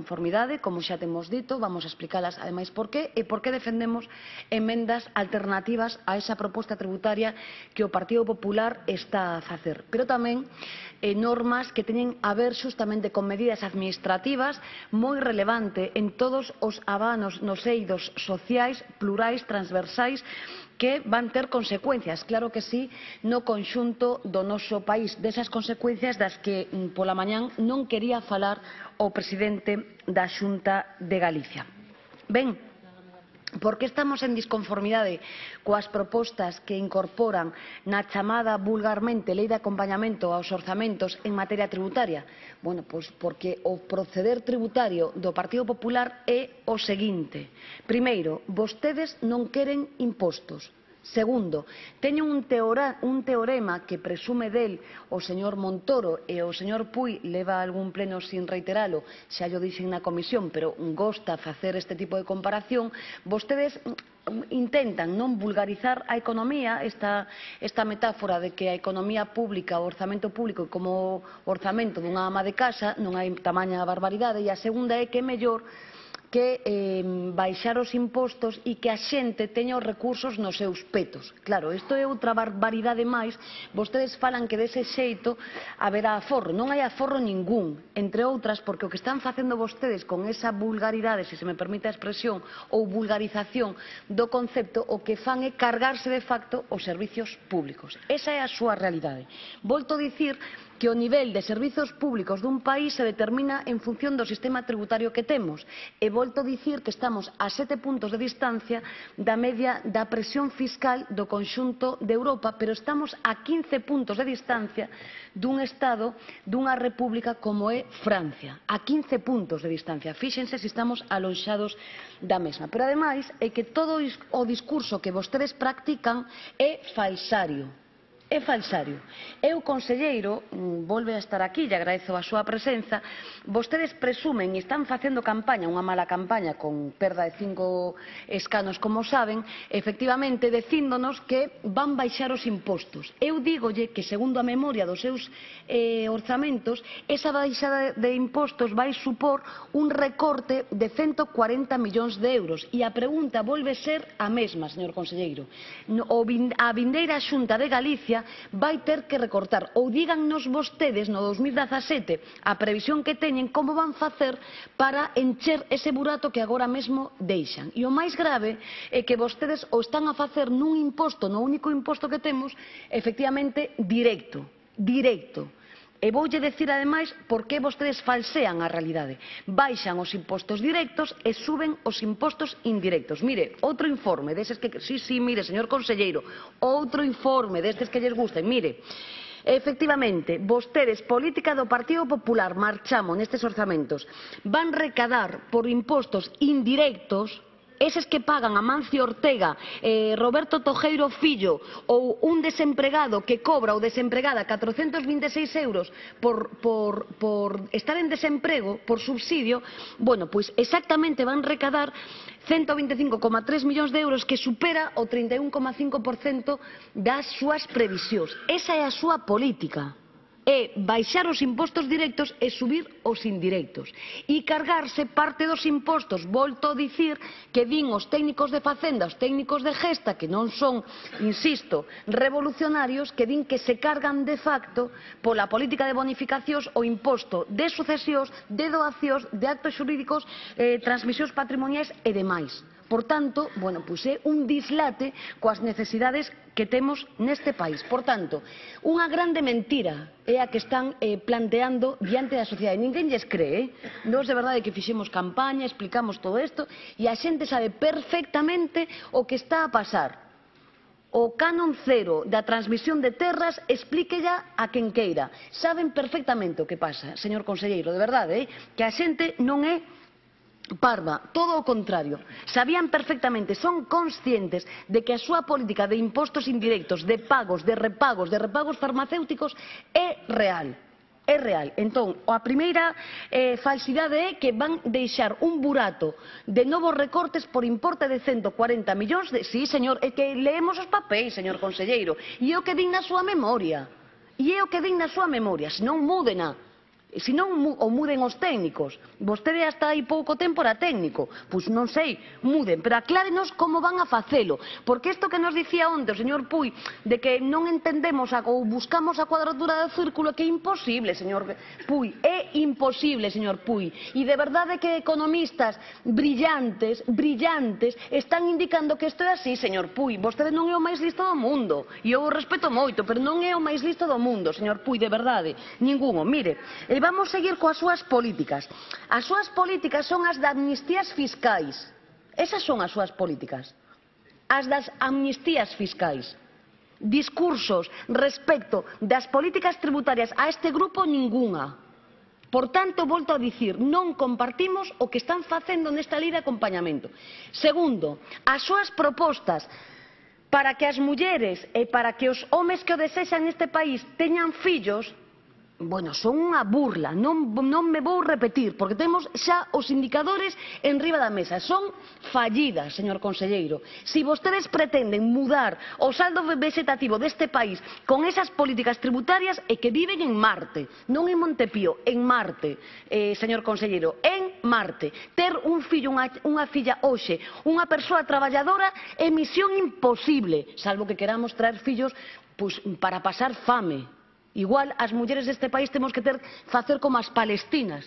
conformidade, como xa temos dito, vamos a explicalas ademais por qué e por que defendemos emendas alternativas a esa proposta tributaria que o Partido Popular está a facer, pero tamén normas que teñen a ver xustamente con medidas administrativas moi relevante en todos os abanos nos eidos sociais, plurais, transversais, que van ter consecuencias, claro que sí, no conxunto do noso país, desas consecuencias das que pola mañán non quería falar o presidente da Xunta de Galicia. Ben, por que estamos en disconformidade coas propostas que incorporan na chamada vulgarmente Lei de Acompañamento aos orzamentos en materia tributaria? Bueno, pois porque o proceder tributario do Partido Popular é o seguinte. Primeiro, vostedes non queren impostos. Segundo, teñen un teorema que presume del o señor Montoro e o señor Puig leva algún pleno sin reiteralo, xa llo dixen na comisión, pero gosta facer este tipo de comparación. Vostedes intentan non vulgarizar a economía, esta metáfora de que a economía pública, o orzamento público como o orzamento dunha ama de casa, non hai tamaña barbaridade, e a segunda é que é mellor que baixar os impostos e que a xente teña os recursos nos seus petos. Claro, isto é outra barbaridade máis. Vostedes falan que dese xeito haberá aforro. Non hai aforro ningún, entre outras, porque o que están facendo vostedes con esa vulgaridade, se me permite a expresión, ou vulgarización do concepto, o que fan é cargarse de facto os servizos públicos. Esa é a súa realidade. Volto a dicir que o nivel de servizos públicos dun país se determina en función do sistema tributario que temos. E volto a dicir que estamos a 7 puntos de distancia da media da presión fiscal do conxunto de Europa, pero estamos a 15 puntos de distancia dun Estado, dunha república como é Francia. A 15 puntos de distancia. Fíxense se estamos alonxados da mesma. Pero ademais é que todo o discurso que vostedes practican é falsario. É falsario. Eu, conselleiro, volve a estar aquí, e agradezo a súa presenza, vostedes presumen e están facendo campaña, unha mala campaña con perda de 5 escanos, como saben, efectivamente dicíndonos que van baixar os impostos. Eu dígolle que, segundo a memoria dos seus orzamentos, esa baixada de impostos vai supor un recorte de 140 millóns de euros. E a pregunta volve ser a mesma, señor conselleiro. A vindeira Xunta de Galicia vai ter que recortar, ou dígannos vostedes no 2017 a previsión que teñen, como van facer para encher ese burato que agora mesmo deixan. E o máis grave é que vostedes o están a facer nun imposto, no único imposto que temos, efectivamente, directo. E voulle decir, ademais, por que vostedes falsean a realidade. Baixan os impostos directos e suben os impostos indirectos. Mire, outro informe destes que... Sí, mire, señor conselleiro, outro informe destes que lles gusten. Mire, efectivamente, vostedes, política do Partido Popular, marchamos nestes orzamentos, van recadar por impostos indirectos, eses que pagan Amancio Ortega, Roberto Tojeiro Fillo, ou un desempregado que cobra ou desempregada 426 euros por estar en desemprego, por subsidio, bueno, pois exactamente van recadar 125,3 millóns de euros, que supera o 31,5% das súas previsións. Esa é a súa política. É baixar os impostos directos e subir os indirectos. E cargarse parte dos impostos. Volto a dicir que din os técnicos de Facenda, os técnicos de Gesta, que non son, insisto, revolucionarios, que din que se cargan de facto pola política de bonificacións o imposto de sucesións, de doacións, de actos xurídicos, transmisións patrimoniais e demais. Por tanto, bueno, pois é un dislate coas necesidades que temos neste país. Por tanto, unha grande mentira é a que están planteando diante da sociedade. Ninguén lles cree, Nós de verdade que fixemos campaña, explicamos todo isto, e a xente sabe perfectamente o que está a pasar. O canon cero da transmisión de terras, explíquella a quen queira. Saben perfectamente o que pasa, señor conselleiro, de verdade, que a xente non é parva, todo o contrario. Sabían perfectamente, son conscientes de que a súa política de impostos indirectos, de pagos, de repagos farmacéuticos é real. É real. Entón, a primeira falsidade é que van deixar un burato de novos recortes por importe de 140 millóns de... Sí, señor, é que leemos os papéis, señor conselleiro, e é o que din na súa memoria. Se non múdena. Se non o muden os técnicos. Vostede hasta hai pouco tempo era técnico. Pois non sei, muden, pero aclárenos como van a facelo. Porque isto que nos dicía onte o señor Puig, de que non entendemos ou buscamos a cuadratura do círculo, que é imposible, señor Puig. É imposible, señor Puig. E de verdade que economistas brillantes están indicando que isto é así, señor Puig. Vostede non é o máis listo do mundo. E eu o respeto moito, pero non é o máis listo do mundo, señor Puig, de verdade. Ninguno. Mire, vamos seguir coas súas políticas. As súas políticas son as de amnistías fiscais. Esas son as súas políticas. As das amnistías fiscais. Discursos respecto das políticas tributarias a este grupo, ningunha. Por tanto, volto a dicir, non compartimos o que están facendo nesta lei de acompañamento. Segundo, as súas propostas para que as mulleres e para que os homes que o desexan neste país teñan fillos, bueno, son unha burla, non me vou repetir, porque temos xa os indicadores en riba da mesa. Son fallidas, señor conselleiro. Se vostedes pretenden mudar o saldo vegetativo deste país con esas políticas tributarias, é que viven en Marte, non en Montepío, en Marte, señor conselleiro, en Marte. Ter un fillo, unha filla hoxe, unha persoa traballadora, é misión imposible, salvo que queramos traer fillos para pasar fame. Igual as mulleres deste país temos que facer como as palestinas,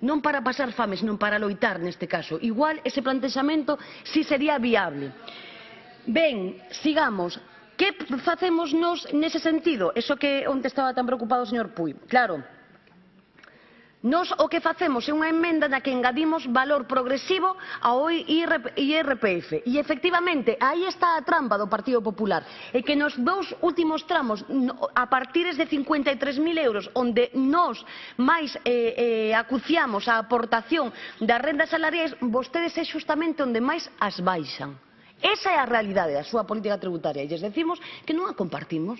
non para pasar fame, senón para loitar neste caso. Igual ese plantexamento si sería viable. Ben, sigamos. Que facemos nos nese sentido? Eso que onte estaba tan preocupado o señor Puig. Claro, nos o que facemos é unha emenda na que engadimos valor progresivo ao IRPF. E, efectivamente, aí está a trampa do Partido Popular. E que nos dous últimos tramos, a partires de 53.000 euros, onde nós máis acuciamos a aportación das rendas salariais, vostedes é justamente onde máis as baixan. Esa é a realidade da súa política tributaria. E lles decimos que non a compartimos.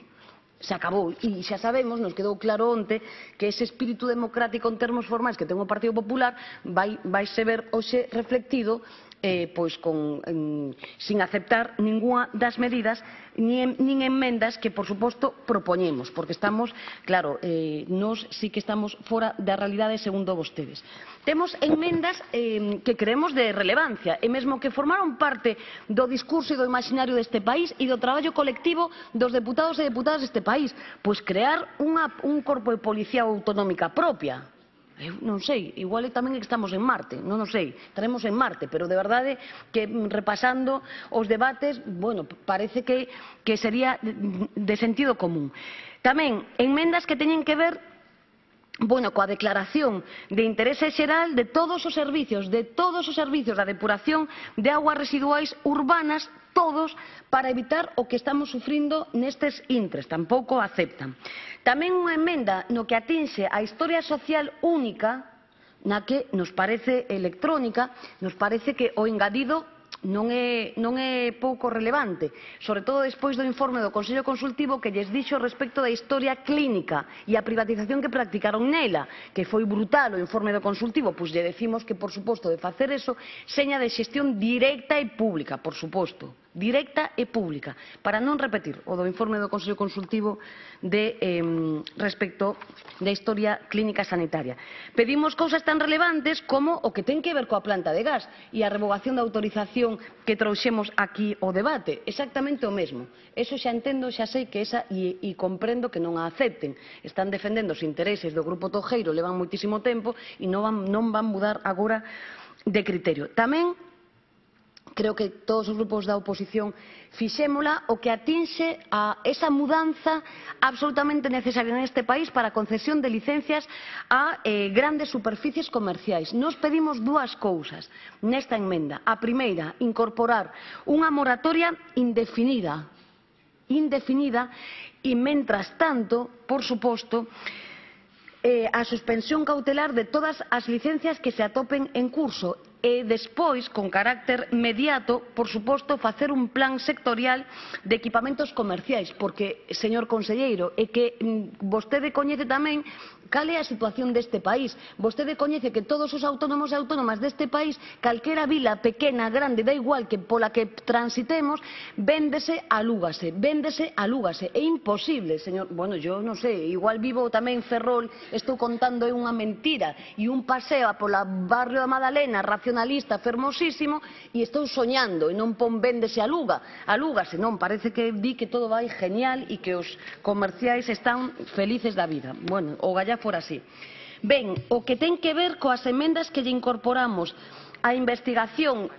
Se acabou, e xa sabemos, nos quedou claro onte, que ese espírito democrático en termos formais que ten o Partido Popular vaise ver hoxe reflectido sin aceptar ningunha das medidas nin enmendas que, por suposto, propoñemos, porque estamos, claro, nós sí que estamos fora da realidade segundo vostedes. Temos enmendas que creemos de relevancia e mesmo que formaron parte do discurso e do imaginario deste país e do traballo colectivo dos deputados e deputadas deste país, pois crear un corpo de policía autonómica propia. Eu non sei, igual tamén é que estamos en Marte, non o sei, estaremos en Marte, pero de verdade que repasando os debates, bueno, parece que sería de sentido común. Tamén, enmendas que teñen que ver coa declaración de interese xeral de todos os servicios da depuración de augas residuais urbanas, todos, para evitar o que estamos sufrindo nestes intres, tampouco aceptan. Tamén unha emenda no que atinxe a historia social única, na que nos parece electrónica, nos parece que o engadido non é pouco relevante, sobre todo despois do informe do Consello Consultivo que lles dixo respecto da historia clínica e a privatización que practicaron nela, que foi brutal o informe do Consultivo, pois lle decimos que, por suposto, de facer eso, seña de xestión directa e pública, por suposto, directa e pública, para non repetir o do informe do Consello Consultivo respecto da historia clínica sanitaria. Pedimos cousas tan relevantes como o que ten que ver coa planta de gas e a revogación da autorización que trouxemos aquí ao debate, exactamente o mesmo. Eso xa entendo, xa sei que esa e comprendo que non a acepten. Están defendendo os intereses do Grupo Tojeiro, levan moitísimo tempo e non van mudar agora de criterio. Tamén creo que todos os grupos da oposición fixémola o que atinxe a esa mudanza absolutamente necesaria neste país para a concesión de licencias a grandes superficies comerciais. Nos pedimos dúas cousas nesta emenda. A primeira, incorporar unha moratoria indefinida e, mentras tanto, por suposto, a suspensión cautelar de todas as licencias que se atopen en curso e despois, con carácter inmediato, por suposto, facer un plan sectorial de equipamentos comerciais, porque, señor conselleiro, é que vostede coñece tamén Cal é a situación deste país? Vostede coñece que todos os autónomos e autónomas deste país, calquera vila pequena, grande, da igual que pola que transitemos, véndese, alúgase, véndese, alúgase. É imposible, señor. Bueno, yo non sei, igual vivo tamén en Ferrol, estou contando unha mentira e un paseo pola barrio da Madalena racionalista fermosísimo e estou soñando e non pon véndese, alúgase, non, parece que di que todo vai genial e que os comerciais están felices da vida. Bueno, o gallá fora así. Ben, o que ten que ver coas emendas que lle incorporamos a investigación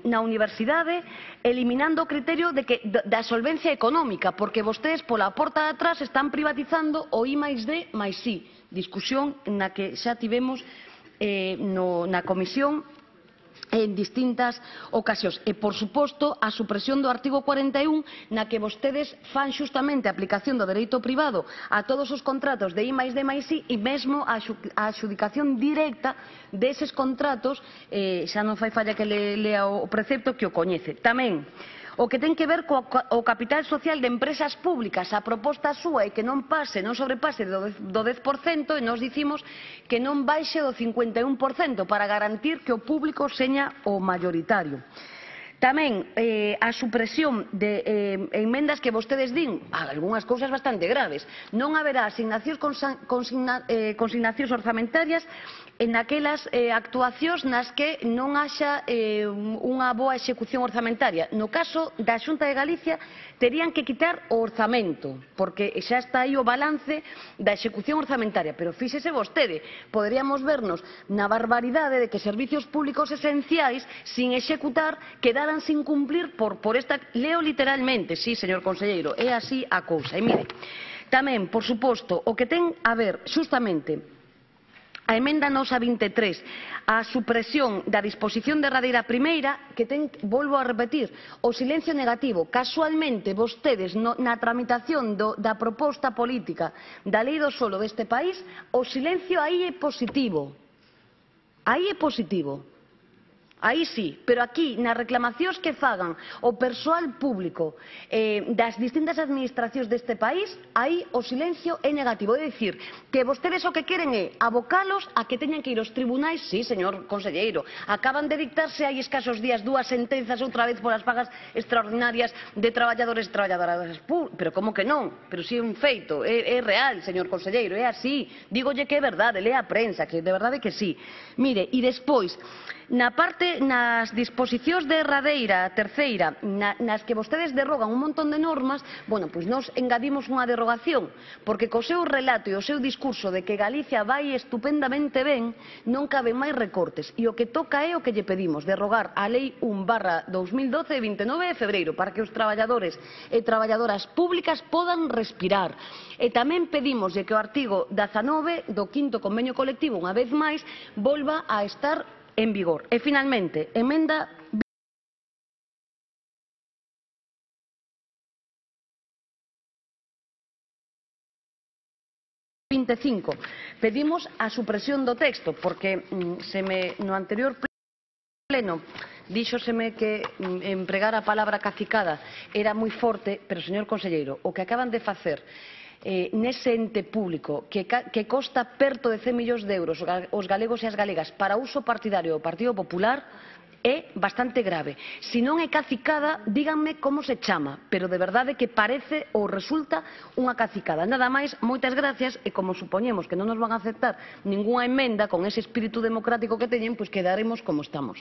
na universidade, eliminando o criterio da solvencia económica, porque vostedes pola porta de atrás están privatizando o I+D máis I, discusión na que xa tivemos na comisión en distintas ocasións. E, por suposto, a supresión do artigo 41, na que vostedes fan xustamente a aplicación do dereito privado a todos os contratos de I+D máis I e mesmo a adxudicación directa deses contratos, xa non fai falla que lea o precepto que o coñece. Tamén o que ten que ver co capital social de empresas públicas, a proposta súa é que non sobrepase do 10% e nós dicimos que non baixe do 51% para garantir que o público seña o mayoritario. Tamén a supresión de emendas que vostedes din, algunhas cousas bastante graves. Non haberá consignacións orzamentarias en aquelas actuacións nas que non haxa unha boa execución orzamentaria. No caso da Xunta de Galicia terían que quitar o orzamento, porque xa está aí o balance da execución orzamentaria. Pero fíxese vostede, poderíamos vernos na barbaridade de que servicios públicos esenciais, sin executar, quedaran sin cumplir por esta... Leo literalmente, sí, señor conselleiro, é así a cousa. E mire, tamén, por suposto, o que ten a ver xustamente a emenda nosa 23, a supresión da disposición derradeira primeira, que ten, volvo a repetir, o silencio negativo. Casualmente, vostedes, na tramitación da proposta política da lei do solo deste país, o silencio aí é positivo. Aí é positivo. Aí sí, pero aquí, nas reclamacións que fagan o persoal público das distintas administracións deste país, aí o silencio é negativo. É dicir, que vostedes o que queren é abocalos a que teñan que ir aos tribunais. Sí, señor conselleiro, acaban de dictarse hai escasos días dúas sentenzas outra vez polas pagas extraordinarias de traballadores e traballadoras públicas. Pero como que non? Pero si é un feito, é real, señor conselleiro, é así. Dígolle que é verdade, lea a prensa, que de verdade que sí. Mire, e despois, nas disposicións derradeira, terceira, nas que vostedes derrogan un montón de normas, bueno, pois nós engadimos unha derrogación, porque co seu relato e o seu discurso de que Galicia vai estupendamente ben, non caben máis recortes. E o que toca é o que lle pedimos, derrogar a Lei 1/2012 de 29 de febreiro, para que os traballadores e traballadoras públicas podan respirar. E tamén pedimos que o artigo 19 do 5º convenio colectivo, unha vez máis, volva a estar en vigor. E, finalmente, emenda 25. Pedimos a supresión do texto, porque no anterior pleno díxoseme que empregar a palabra cacicada era moi forte, pero, señor conselleiro, o que acaban de facer nese ente público que costa perto de 100 millóns de euros aos galegos e as galegas para uso partidario do Partido Popular é bastante grave. Se non é cacicada, díganme como se chama, pero de verdade que parece ou resulta unha cacicada. Nada máis, moitas gracias, e como supoñemos que non nos van a aceptar ningunha emenda con ese espírito democrático que teñen, pois quedaremos como estamos.